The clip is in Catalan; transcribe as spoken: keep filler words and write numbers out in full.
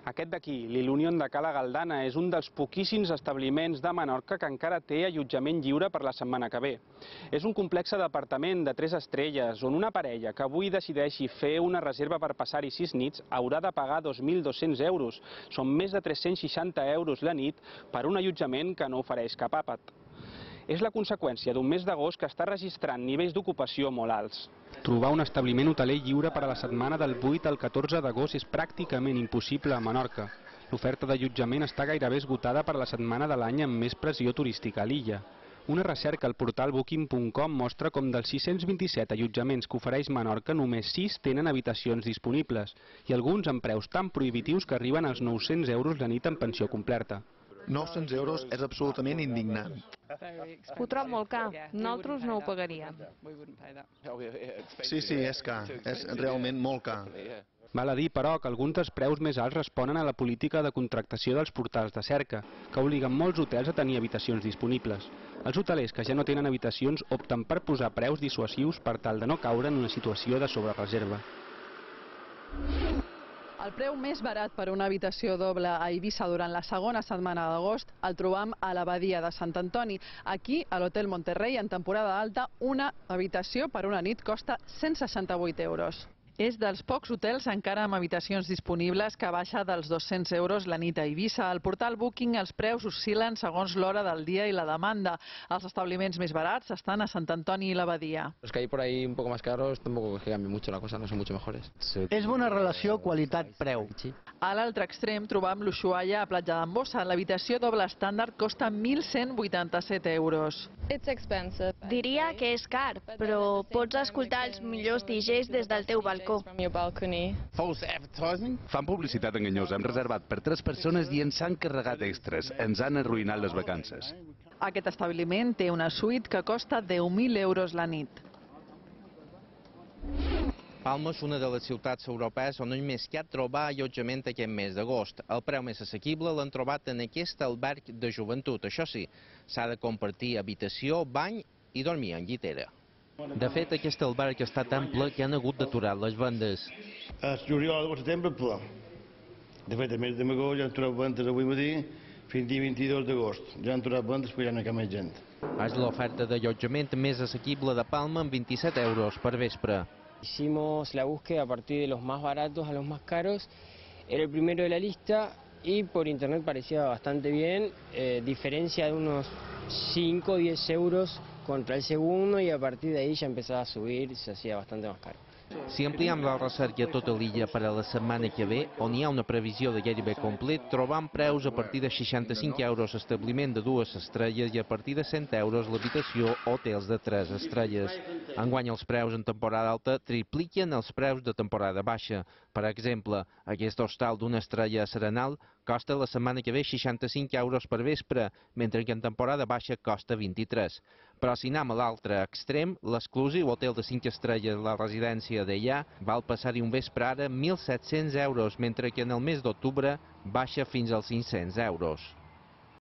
Aquest d'aquí, l'Ilunion de Cala Galdana, és un dels poquíssims establiments de Menorca que encara té allotjament lliure per la setmana que ve. És un complex d'apartament de tres estrelles on una parella que avui decideixi fer una reserva per passar-hi sis nits haurà de pagar dos mil dos-cents euros. Són més de tres-cents seixanta euros la nit per un allotjament que no ofereix cap àpat. És la conseqüència d'un mes d'agost que està registrant nivells d'ocupació molt alts. Trobar un establiment hoteler lliure per a la setmana del vuit al catorze d'agost és pràcticament impossible a Menorca. L'oferta d'allotjament està gairebé esgotada per la setmana de l'any amb més pressió turística a l'illa. Una recerca al portal booking punt com mostra com dels sis-cents vint-i-set allotjaments que ofereix Menorca només sis tenen habitacions disponibles i alguns amb preus tan prohibitius que arriben als nou-cents euros la nit en pensió completa. nou-cents euros és absolutament indignant. Ho trobo molt car. Nosaltres no ho pagaríem. Sí, sí, és car. És realment molt car. Val a dir, però, que alguns dels preus més alts responen a la política de contractació dels portals de cerca, que obliguen molts hotels a tenir habitacions disponibles. Els hotelers que ja no tenen habitacions opten per posar preus dissuasius per tal de no caure en una situació de sobrereserva. El preu més barat per una habitació doble a Eivissa durant la segona setmana d'agost el trobam a l'Abadia de Sant Antoni. Aquí, a l'Hotel Monterrey, en temporada alta, una habitació per una nit costa cent seixanta-vuit euros. És dels pocs hotels encara amb habitacions disponibles que baixa dels dos-cents euros la nit a Eivissa. Al portal Booking els preus oscil·len segons l'hora del dia i la demanda. Els establiments més barats estan a Sant Antoni i l'Abadia. Los que hay por ahí un poco más caros tampoco es que cambie mucho la cosa, no son mucho mejores. És bona relació qualitat-preu. A l'altre extrem trobam l'Ushuaia a Platja d'Embossa. L'habitació doble estàndard costa mil cent vuitanta-set euros. Diria que és car, però pots escoltar els millors D Js des del teu balcó. Fan publicitat enganyosa. Hem reservat per tres persones i ens han carregat extras. Ens han arruïnat les vacances. Aquest establiment té una suite que costa deu mil euros la nit. Palma és una de les ciutats europees on només hi ha trobar allotjament aquest mes d'agost. El preu més assequible l'han trobat en aquest alberg de joventut. Això sí, s'ha de compartir habitació, bany i dormir en llitera. De fet, aquest alberg està tan ple que han hagut d'aturar les vendes. El juliol o setembre ple. De fet, a mes de m'agost ja han trobat vendes avui matí fins al vint-i-dos d'agost. Ja han trobat vendes però ja no hi ha més gent. És l'oferta d'allotjament més assequible de Palma amb vint-i-set euros per vespre. Hicimos la búsqueda a partir de los más baratos a los más caros. Era el primero de la lista y por internet parecía bastante bien. Eh, diferencia de unos cinco o diez euros contra el segundo y a partir de ahí ya empezaba a subir y se hacía bastante más caro. Si ampliem la recerca a tota l'illa per a la setmana que ve, on hi ha una previsió de gairebé complet, trobam preus a partir de seixanta-cinc euros establiment de dues estrelles i a partir de cent euros l'habitació hotels de tres estrelles. Enguany els preus en temporada alta tripliquen els preus de temporada baixa. Per exemple, aquest hostal d'una estrella a Serenal costa la setmana que ve seixanta-cinc euros per vespre, mentre que en temporada baixa costa vint-i-tres. Però si anem a l'altre extrem, l'exclusiu hotel de cinc estrelles, la residència d'Ellà, val passar-hi un vespre ara mil set-cents euros, mentre que en el mes d'octubre baixa fins als cinc-cents euros.